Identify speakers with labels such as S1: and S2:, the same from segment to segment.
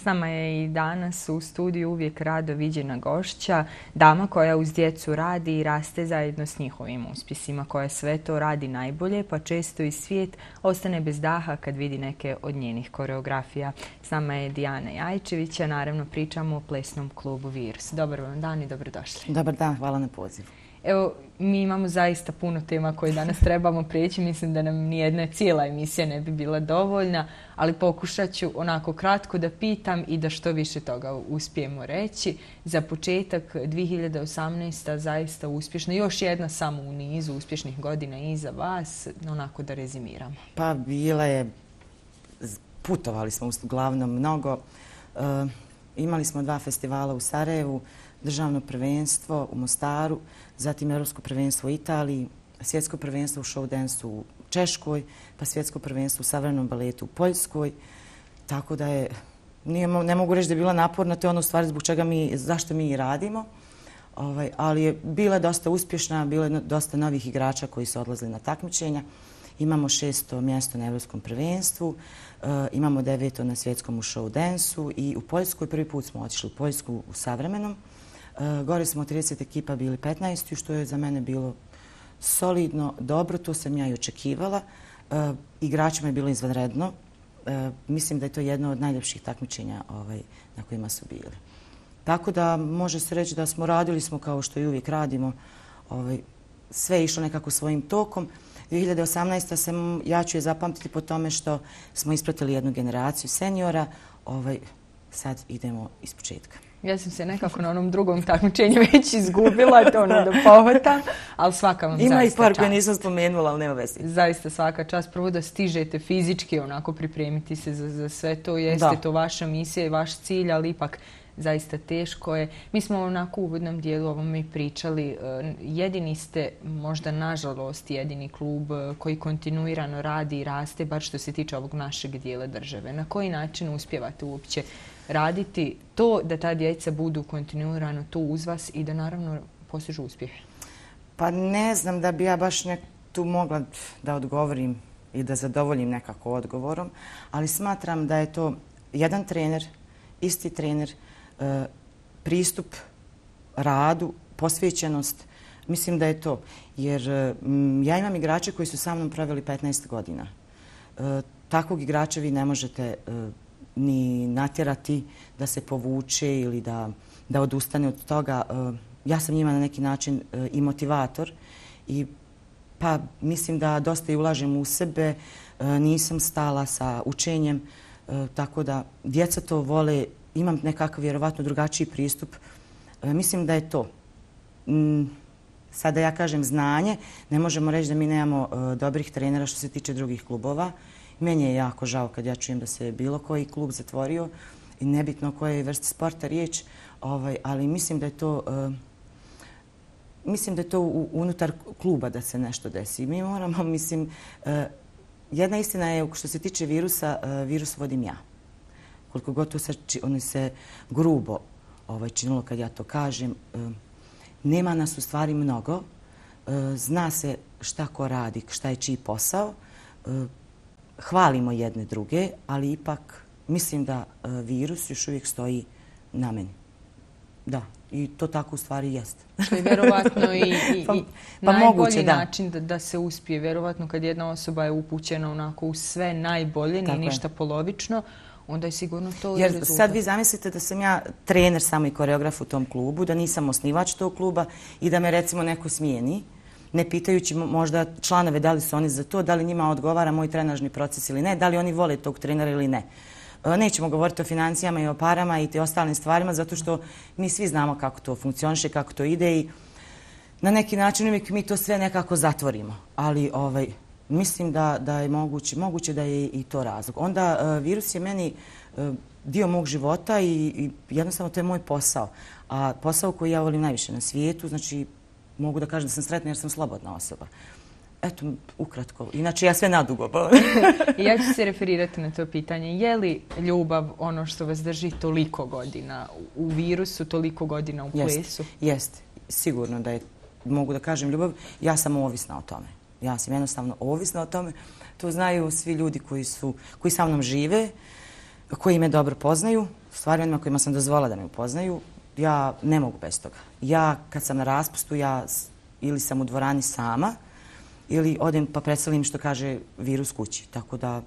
S1: nama je i danas u studiju uvijek rado viđena gošća, dama koja uz djecu radi i raste zajedno s njihovim uspjesima, koja sve to radi najbolje, pa često i svijet ostane bez daha kad vidi neke od njenih koreografija. S nama je Dijana Jajčević, a naravno pričamo o plesnom klubu Virus. Dobar vam dan i dobrodošli.
S2: Dobar dan, hvala na pozivu.
S1: Evo, mi imamo zaista puno tema koje danas trebamo prijeći. Mislim da nam nijedna cijela emisija ne bi bila dovoljna, ali pokušat ću onako kratko da pitam i da što više toga uspijemo reći. Za početak 2018. zaista uspješna, još jedna samo u nizu uspješnih godina iza vas, onako da rezimiramo.
S2: Pa bila je, putovali smo uglavnom mnogo. Imali smo 2 festivala u Sarajevu, državno prvenstvo u Mostaru, zatim Europsko prvenstvo u Italiji, svjetsko prvenstvo u show dansu u Češkoj, pa svjetsko prvenstvo u savremenom baletu u Poljskoj. Tako da je, ne mogu reći da je bila naporna, to je ono stvari zbog čega zašto mi i radimo. Ali je bila dosta uspješna, bilo je dosta novih igrača koji su odlazili na takmičenja. Imamo 6. mjesto na Europskom prvenstvu, imamo 9. na svjetskom u show dansu i u Poljskoj prvi put smo otišli u Poljsku u savremenom. Gore smo 30 ekipa bili 15. što je za mene bilo solidno, dobro, to sam ja i očekivala. Igračima je bilo izvanredno. Mislim da je to jedno od najljepših takmičenja na kojima su bili. Tako da može se reći da smo radili kao što i uvijek radimo. Sve je išlo nekako svojim tokom. 2018. ja ću je zapamtiti po tome što smo ispratili jednu generaciju seniora. Sad idemo iz početka.
S1: Ja sam se nekako na onom drugom takmičenju već izgubila, to da pohvatam, ali svaka vam zaista čast.
S2: Ima i par koje nisam spomenula, ali nema veze.
S1: Zaista svaka čast. Prvo da stižete fizički onako pripremiti se za sve to. Jeste to vaša misija i vaš cilj, ali ipak zaista teško je. Mi smo onako u uvodnom dijelu ovome pričali. Jedini ste, možda nažalost, jedini klub koji kontinuirano radi i raste, bar što se tiče ovog našeg dijela države. Na koji način uspijevate uopće raditi to da ta djeca budu kontinuirano tu uz vas i da naravno postižu uspjehe?
S2: Pa ne znam da bi ja baš tu mogla da odgovorim i da zadovoljim nekako odgovorom, ali smatram da je to jedan trener, isti trener, pristup radu, posvećenost. Mislim da je to. Jer ja imam igrače koji su sa mnom proveli 15 godina. Takvog igrača vi ne možete ni natjerati da se povuče ili da odustane od toga. Ja sam njima na neki način i motivator i pa mislim da dosta i ulažem u sebe. Nisam stala sa učenjem, tako da djeca to vole. Imam nekakav vjerovatno drugačiji pristup. Mislim da je to. Sada ja kažem znanje. Ne možemo reći da mi nemamo dobrih trenera što se tiče drugih klubova. Meni je jako žao kad ja čujem da se bilo koji klub zatvorio i nebitno koje vrste sporta riječ, ali mislim da je to unutar kluba da se nešto desi. Mi moramo, jedna istina je što se tiče virusa, virus vodim ja. Koliko god to se grubo činilo kad ja to kažem, nema nas u stvari mnogo, zna se šta ko radi, šta je čiji posao, hvalimo jedne druge, ali ipak mislim da virus još uvijek stoji na meni. Da, i to tako u stvari jeste.
S1: Što je vjerovatno i najbolji način da se uspije. Vjerovatno kad jedna osoba je upućena onako u sve najbolje, nije ništa polovično, onda je sigurno to
S2: jer
S1: rezultat.
S2: Sad vi zamislite da sam ja trener samo i koreograf u tom klubu, da nisam osnivač tog kluba i da me recimo neko smijeni, ne pitajući možda članove da li su oni za to, da li njima odgovara moj trenažni proces ili ne, da li oni vole tog trenera ili ne. Nećemo govoriti o financijama i o parama i te ostalim stvarima, zato što mi svi znamo kako to funkcioniše, kako to ide i na neki način uvijek mi to sve nekako zatvorimo. Ali mislim da je moguće da je i to razlog. Onda virus je meni dio mog života i jednostavno to je moj posao. A posao koji ja volim najviše na svijetu, znači mogu da kažem da sam sretna jer sam slobodna osoba. Eto, ukratko. Inače, ja sve nadugo.
S1: Ja ću se referirati na to pitanje. Je li ljubav ono što vas drži toliko godina u virusu, toliko godina u plesu?
S2: Jeste. Sigurno da je, mogu da kažem, ljubav. Ja sam ovisna o tome. Ja sam jednostavno ovisna o tome. To znaju svi ljudi koji sa mnom žive. koji me dobro poznaju, stvari onima kojima sam dozvolila da me upoznaju, ja ne mogu bez toga. Ja kad sam na raspustu, ja ili sam u dvorani sama, ili odem pa predstavim što kaže virus kući. Tako da,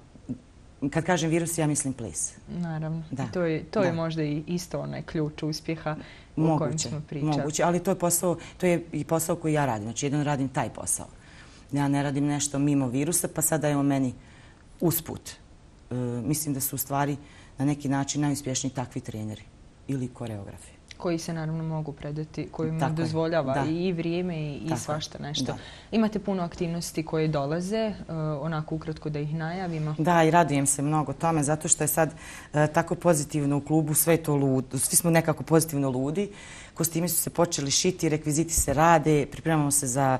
S2: kad kažem virus, ja mislim ples.
S1: Naravno. To je možda i isto onaj ključ uspjeha o kojem smo pričali.
S2: Moguće, ali to je i posao koji ja radim. Znači, jedino radim taj posao. Ja ne radim nešto mimo virusa, pa sada je on meni usput. Mislim da su u stvari na neki način najuspješniji takvi treneri ili koreografi.
S1: Koji se naravno mogu predati, kojima dozvoljava i vrijeme i svašta nešto. Imate puno aktivnosti koje dolaze, onako ukratko da ih najavimo.
S2: Da, i radujem se mnogo tome, zato što je sad tako pozitivno u klubu, sve to ludo. Svi smo nekako pozitivno ludi. Kostimi su se počeli šiti, rekviziti se rade, pripremamo se za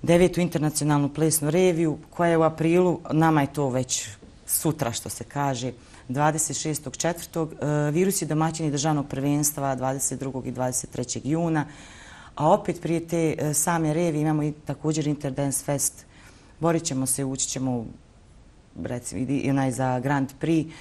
S2: 9. internacionalnu plesnu reviju, koja je u aprilu, nama je to već sutra što se kaže, 26.4. Virus je domaćini državnog prvenstva 22. i 23. juna. A opet prije te same revije imamo i također Interdance Fest. Borit ćemo se, ući ćemo recimo za Grand Prix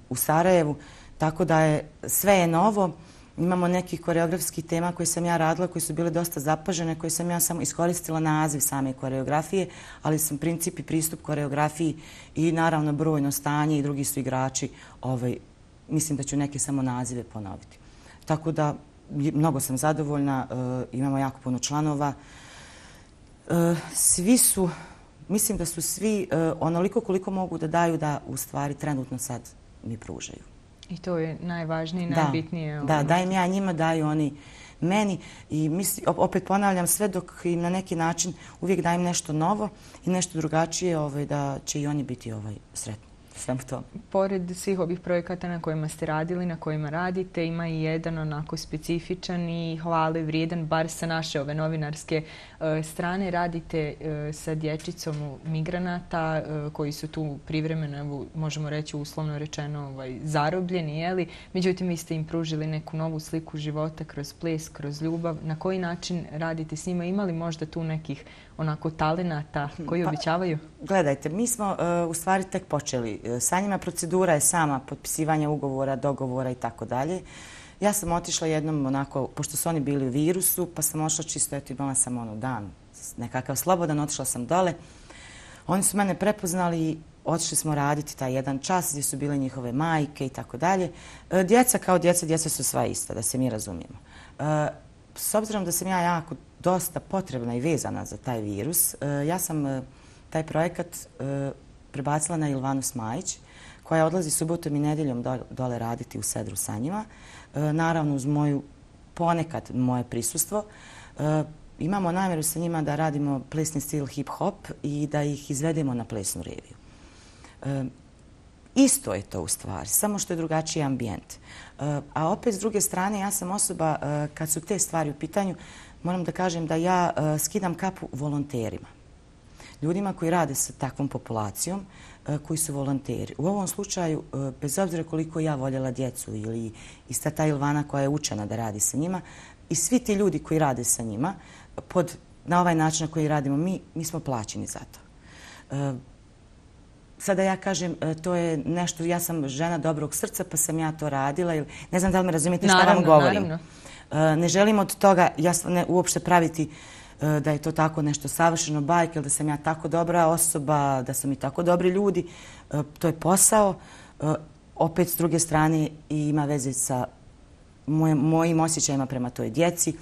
S2: u Sarajevu. Tako da je sve novo. Imamo nekih koreografskih tema koje sam ja radila, koje su bile dosta zapažene, koje sam ja samo iskoristila naziv same koreografije, ali sam princip i pristup koreografiji i naravno brojno stanje i drugi su igrači. Mislim da ću neke samo nazive ponoviti. Tako da mnogo sam zadovoljna, imamo jako puno članova. Svi su, mislim da su svi onoliko koliko mogu da daju da u stvari trenutno sad mi pružaju.
S1: I to je najvažnije i najbitnije.
S2: Da, dajem ja njima, daju oni meni. I opet ponavljam, sve dok im na neki način uvijek dajem nešto novo i nešto drugačije, da će i oni biti sretni.
S1: Pored svih ovih projekata na kojima ste radili, na kojima radite, ima i jedan onako specifičan i hvale vrijedan, bar sa naše ove novinarske strane. Radite sa dječicom migranata koji su tu privremeno, možemo reći uslovno rečeno, zarobljeni. Međutim, vi ste im pružili neku novu sliku života kroz ples, kroz ljubav. Na koji način radite s njima? Ima li možda tu nekih onako talenata koji običavaju?
S2: Gledajte, mi smo u stvari tek počeli. Sa njima procedura je sama potpisivanja ugovora, dogovora i tako dalje. Ja sam otišla jednom onako, pošto su oni bili u virusu, pa sam ošla čisto, eto imala sam dan nekakav slobodan, otišla sam dole. Oni su mene prepoznali i otišli smo raditi taj jedan čas gdje su bile njihove majke i tako dalje. Djeca kao djeca su sva ista, da se mi razumijemo. S obzirom da sam ja jako dosta potrebna i vezana za taj virus, ja sam taj projekat prebacila na Ilvanu Smajić, koja odlazi subotom i nedjeljom dole raditi u Sedru sa njima. Naravno, uz ponekad moje prisustvo. Imamo namjeru sa njima da radimo plesni stil hip-hop i da ih izvedemo na plesnu reviju. Isto je to u stvari, samo što je drugačiji ambijent. A opet, s druge strane, ja sam osoba, kad su te stvari u pitanju, moram da kažem da ja skidam kapu volonterima. Ljudima koji rade sa takvom populacijom, koji su volonteri. U ovom slučaju, bez obzira koliko ja voljela djecu ili ista ta Ilvana koja je učena da radi sa njima, i svi ti ljudi koji rade sa njima, na ovaj način na koji radimo mi smo plaćeni za to. Sada ja kažem, to je nešto, ja sam žena dobrog srca, pa sam ja to radila. Ne znam da li me razumijete šta vam govorim.
S1: Naravno.
S2: Ne želim od toga uopšte praviti da je to tako nešto savršeno bajke, da sam ja tako dobra osoba, da su mi tako dobri ljudi. To je posao. Opet, s druge strane, ima veze sa mojim osjećajima prema toj djeci.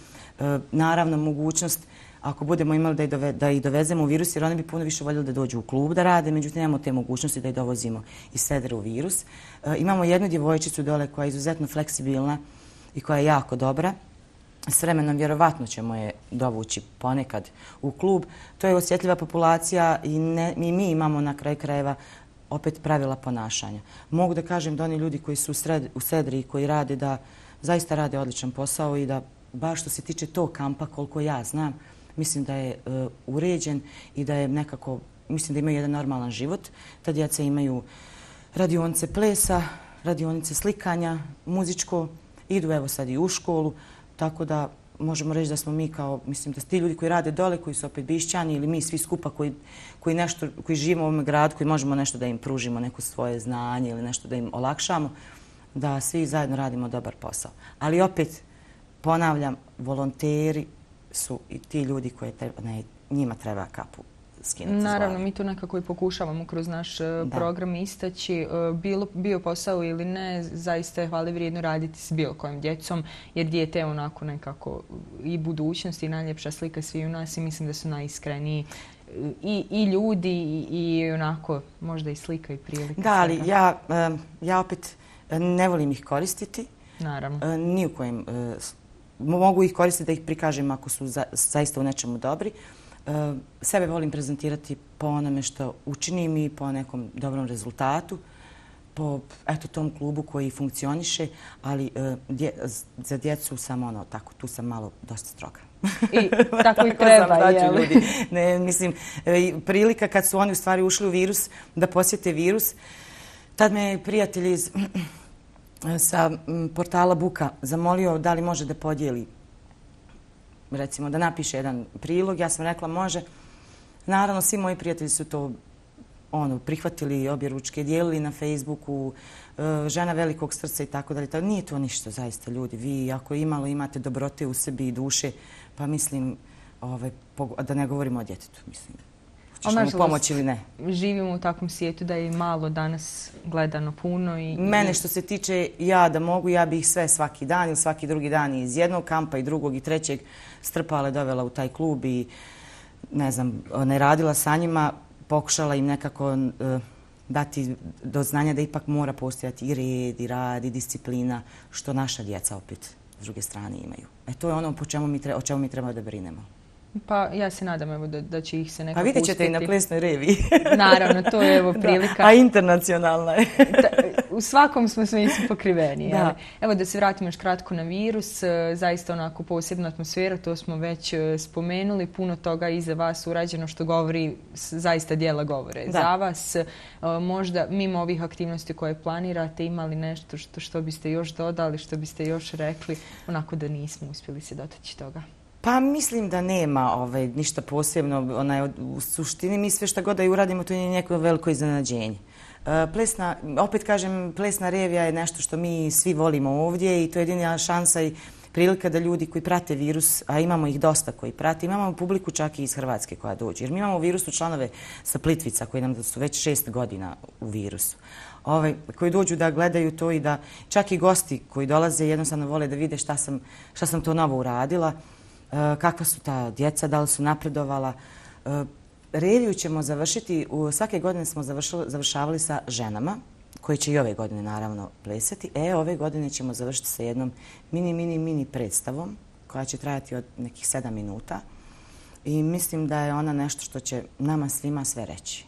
S2: Naravno, mogućnost, ako budemo imali da ih dovezemo u virus, jer oni bi puno više voljeli da dođu u klub da rade, međutim, nemamo te mogućnosti da ih dovozimo iz Sedra u virus. Imamo jednu djevojčicu dole koja je izuzetno fleksibilna i koja je jako dobra. S vremenom vjerovatno ćemo je dovući ponekad u klub. To je osjetljiva populacija i mi imamo na kraju krajeva opet pravila ponašanja. Mogu da kažem da oni ljudi koji su u Sedri i koji rade da zaista rade odličan posao i da baš što se tiče tog kampa, koliko ja znam, mislim da je uređen i da je nekako, mislim da imaju jedan normalan život. Ta djeca imaju radionice plesa, radionice slikanja, muzičko, idu evo sad i u školu. Tako da možemo reći da smo mi kao, mislim da ti ljudi koji rade dole, koji su opet Bišćani ili mi svi skupa koji živimo u ovom gradu, koji možemo nešto da im pružimo, neko svoje znanje ili nešto da im olakšamo, da svi zajedno radimo dobar posao. Ali opet, ponavljam, volonteri su i ti ljudi koji njima treba kapu skinuti.
S1: Naravno, mi to nekako i pokušavamo kroz naš program istaći. Bio posao ili ne, zaista je hvale vrijedno raditi s bilo kojim djecom, jer dijete je onako nekako i budućnost i najljepša slika svi u nas i mislim da su najiskreniji i ljudi i onako možda i slika i prilika.
S2: Da, ali ja opet ne volim ih koristiti.
S1: Naravno.
S2: Ni u kojem. Mogu ih koristiti da ih prikažem ako su zaista u nečemu dobri. Sebe volim prezentirati po onome što učinim i po nekom dobrom rezultatu, po tom klubu koji funkcioniše, ali za djecu sam tako, tu sam malo dosta stroga.
S1: I tako i treba, jel?
S2: Mislim, prilika kad su oni u stvari ušli u virus, da posjete virus, tad me prijatelj sa portala Buka zamolio da li može da podijeli, recimo da napiše jedan prilog. Ja sam rekla može. Naravno, svi moji prijatelji su to prihvatili, obje ručke, dijelili na Facebooku, žena velikog srca i tako dalje. Nije to ništa, zaista, ljudi. Vi ako imate dobrote u sebi i duše, pa mislim da ne govorimo o djetetu, mislim. Hoćeš mu pomoći ili ne?
S1: Živimo u takvom svijetu da je malo danas gledano puno.
S2: Mene što se tiče ja da mogu, ja bih sve svaki dan ili svaki drugi dan iz jednog kampa i drugog i trećeg strpala, dovela u taj klub i ne radila sa njima, pokušala im nekako dati do znanja da ipak mora postojati i red, i rad, i disciplina, što naša djeca opet s druge strane imaju. To je ono o čemu mi treba da brinemo.
S1: Pa ja se nadam da će ih se nekako
S2: uspjeti. Pa vidjet ćete i na plesnoj reviji.
S1: Naravno, to je prilika.
S2: A internacionalna je.
S1: U svakom smo smislu pokriveni. Evo da se vratimo još kratko na virus. Zaista onako posebna atmosfera, to smo već spomenuli. Puno toga iza vas urađeno što govori, zaista djela govore za vas. Možda mimo ovih aktivnosti koje planirate, imali nešto što biste još dodali, što biste još rekli, onako da nismo uspjeli se dotaći toga?
S2: Pa mislim da nema ništa posebno. U suštini mi sve što god da i uradimo, to je neko veliko iznenađenje. Opet kažem, plesna revija je nešto što mi svi volimo ovdje i to je jedina šansa i prilika da ljudi koji prate virus, a imamo ih dosta koji prate, imamo publiku čak i iz Hrvatske koja dođe. Jer mi imamo u virusu članove sa Plitvica koji nam su već 6 godina u virusu. Koji dođu da gledaju to i da čak i gosti koji dolaze jednostavno vole da vide šta sam to novo uradila. Kakva su ta djeca, da li su napredovala. Reviju ćemo završiti, svake godine smo završavali sa ženama, koji će i ove godine naravno plesati. Ove godine ćemo završiti sa jednom mini predstavom, koja će trajati od nekih 7 minuta. I mislim da je ona nešto što će nama svima sve reći.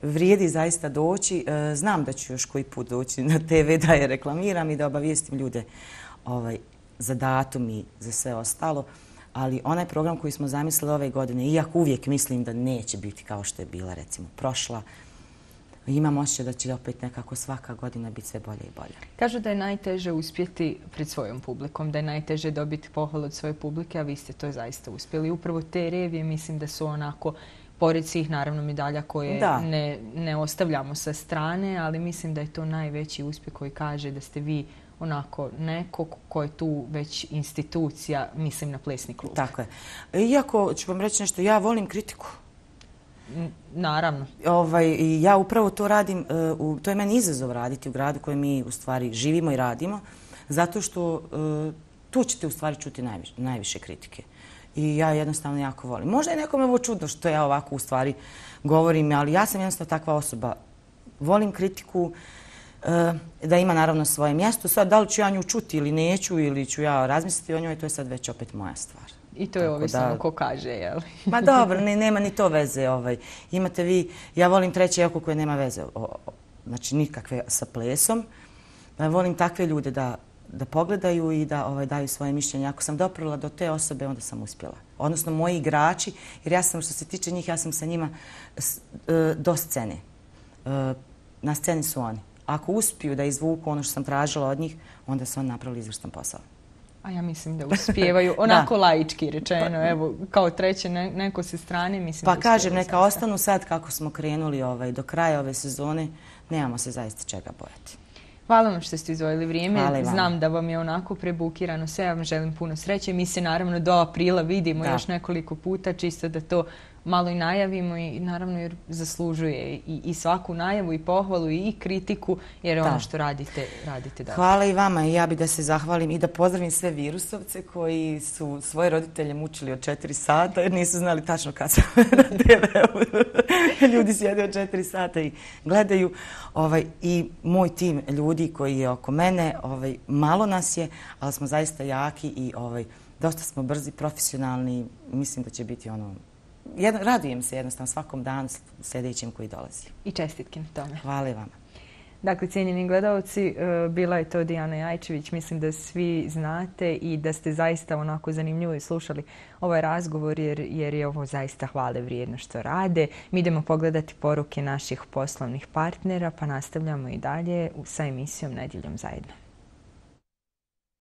S2: Vrijedi zaista doći. Znam da ću još koji put doći na TV da je reklamiram i da obavijestim ljude za datum i za sve ostalo, ali onaj program koji smo zamislili ove godine, iako uvijek mislim da neće biti kao što je bila recimo prošla, imam osjećaj da će opet nekako svaka godina biti sve bolje i bolje.
S1: Kažu da je najteže uspjeti pred svojom publikom, da je najteže dobiti pohvalu od svoje publike, a vi ste to zaista uspjeli. Upravo te revije mislim da su onako, pored svih naravno medalja koje ne ostavljamo sa strane, ali mislim da je to najveći uspjeh koji kaže da ste vi onako neko ko je tu već institucija, mislim na plesni klub.
S2: Tako je. Iako ću vam reći nešto, ja volim kritiku.
S1: Naravno.
S2: Ja upravo to radim, to je meni izazov raditi u gradu kojem mi u stvari živimo i radimo, zato što tu ćete u stvari čuti najviše kritike. I ja jednostavno jako volim. Možda je nekome ovo čudno što ja ovako u stvari govorim, ali ja sam jednostavno takva osoba. Volim kritiku, da ima naravno svoje mjesto. Sad, da li ću ja nju čuti ili neću, ili ću ja razmisliti o njoj, to je sad već opet moja stvar.
S1: I to je ovisno ko kaže, jel?
S2: Ma dobro, nema ni to veze. Imate vi, ja volim treće oko koje nema veze, znači nikakve sa plesom. Volim takve ljude da pogledaju i da daju svoje mišljenje. Ako sam doprla do te osobe, onda sam uspjela. Odnosno, moji igrači, jer ja sam, što se tiče njih, ja sam sa njima do scene. Na sceni su oni. Ako uspiju da izvuku ono što sam tražila od njih, onda su oni napravili izvrstan posao.
S1: A ja mislim da uspijevaju, onako laički rečeno, evo, kao treće neko se strane, mislim da
S2: uspijevaju. Pa kažem, neka ostanu sad kako smo krenuli do kraja ove sezone, nemamo se zaista čega bojati.
S1: Hvala vam što ste izdvojili vrijeme. Znam da vam je onako prebukirano sve. Ja vam želim puno sreće. Mi se naravno do aprila vidimo još nekoliko puta, čisto da to malo i najavimo i naravno jer zaslužuje i svaku najavu i pohvalu i kritiku jer ono što radite dobro.
S2: Hvala i vama i ja bih da se zahvalim i da pozdravim sve virusovce koji su svoje roditelje mučili od 4 sata jer nisu znali tačno kad sam na TV-u. Ljudi sjede od 4 sata i gledaju i moj tim ljudi koji je oko mene, malo nas je, ali smo zaista jaki i dosta smo brzi, profesionalni. Mislim da će biti radujem se jednostavno svakom danu sljedećem koji dolazi.
S1: I čestitke na tome.
S2: Hvala i vama.
S1: Dakle, cijenjeni gledalci, bila je to Dijana Jajčević. Mislim da svi znate i da ste zaista onako zanimljivo slušali ovaj razgovor jer je ovo zaista hvale vrijedno što rade. Mi idemo pogledati poruke naših poslovnih partnera pa nastavljamo i dalje sa emisijom Nedjeljom zajedno.